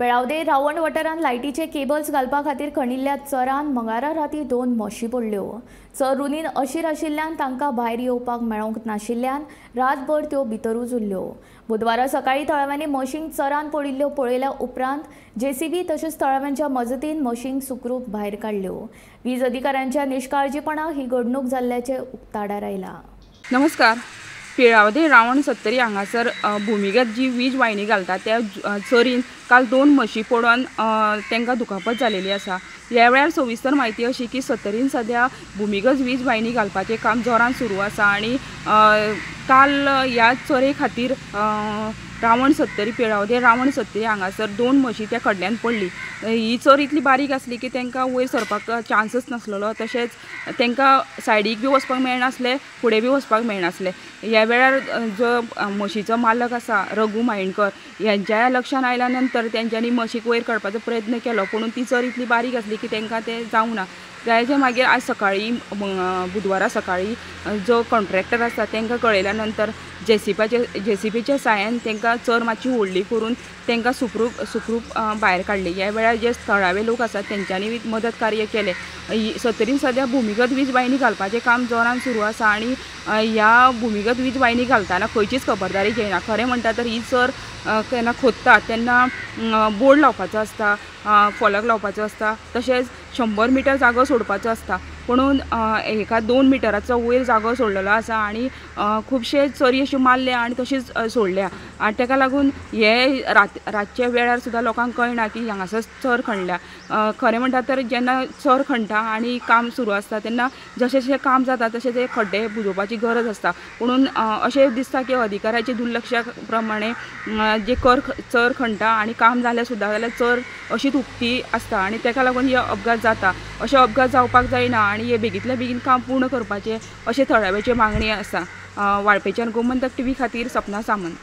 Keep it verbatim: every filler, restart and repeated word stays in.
पेळावदे रावण वाठारांत लायटीचे केबल्स घालपा खातीर खणिल्ल्या चरान मंगळारा राती दोन म्हशी पडल्यो. चर रुनीन अशीर आशिल्ल्यान तांकां भायर येवपाक मेळोंक नाशिल्ल्यान रातभर त्यो भितरूच उरल्यो. बुधवारा सकाळीं थळाव्यांनी म्हशींक चरान पडिल्ल्यो पळयल्या उपरांत जेसीबी तशेंच थळाव्यांच्या मजतीन म्हशींक सुखरूप भायर काडल्यो. वीज अधिकाऱ्यांच्या निश्काळजीपणाक ही घडणूक जाल्ल्याचें उक्ताडार आयलां. नमस्कार. पेळावदे रावण सत्तरी हांगासर भुमिगत जी वीज वाहिनी घालता त्या चरीन काल दोन म्हशी पडून तांकां दुखापत जालेली आसा. ह्या वेळार सविस्तर म्हायती अशी की सत्तरीन सद्या भुमिगत वीज वाहिनी घालपाचें काम जोरान सुरू आसा आनी काल ह्या चरे खातीर रावण सत्तरी पेळावदे रावण सत्तरी हांगासर दोन म्हशी त्या खड्ड्यान पडली. ही चर इतली बारीक आसली की तांकां वयर सरपाक चान्सच नासलेलो, तशेंच तांकां सायडीक बी वचपाक मेळनासलें, फुडें बी वचपाक मेळनासलें. ह्या वेळार जो म्हशीचो मालक आसा रघू मायणकर ह्यांच्या लक्षान आयल्या नंतर तेंच्यांनी म्हशीक वयर काडपाचो प्रयत्न केलो, पूण ती चर इतली बारीक आसली की तांकां तें जावंक ना. ताच्या मागीर आज सकाळीं बुधवारा सकाळीं जो कॉन्ट्रॅक्टर आसा तांकां कळयल्या नंतर जेसीपाचे जेसीबीच्या साहाय्यान तांकां चर मातशी व्हडली करून तांकां सुखरूप सुखरूप भायर काडली. ह्या वेळार जे थळावे लोक आसात तेंच्यांनी मदत कार्य केलें. सत्तरीन सद्या भुमिगत वीज वाहिनी घालपाचें काम जोरान सुरू आसा आनी ह्या भुमिगत वीज वाहिनी घालतना खंयचीच खबरदारी घेयना. खरें म्हणटा तर ही चर केन्ना खोदता तेन्ना बोर्ड लावपाचो आसता, फलक लावपाचो आसता, तशेंच शंबर मिटर जागो सोडपाचो आसता, पुणून एका दोन मिटराचो वयर जागो सोडलेलो आसा आनी खुबशे चरी अश्यो मारल्या आनी तशीच सोडल्या आनी ताका लागून हे रात रातच्या वेळार सुद्दां लोकांक कळना की हांगासर चर खणल्या. खरें म्हणटा तर जेन्ना चर खणटा आनी काम सुरू आसता तेन्ना जशें जशें काम जाता तशें ते खड्डे बुजोवपाची गरज आसता, पुणून अशें दिसता की अधिकाऱ्याच्या दुर्लक्षा प्रमाणे जे कर चर खणटा आनी काम जालें सुद्दां जाल्यार चर अशीच उक्ती आसता आनी ताका लागून हे अपघात जाता. अशे अपघात जावपाक जायना आनी हे बेगींतल्या बेगीन काम पूर्ण करपाचें अशें थळाव्याची मागणी आसा. वाळपेच्यान गोमंतक टीव्ही खातीर सपना सामंत.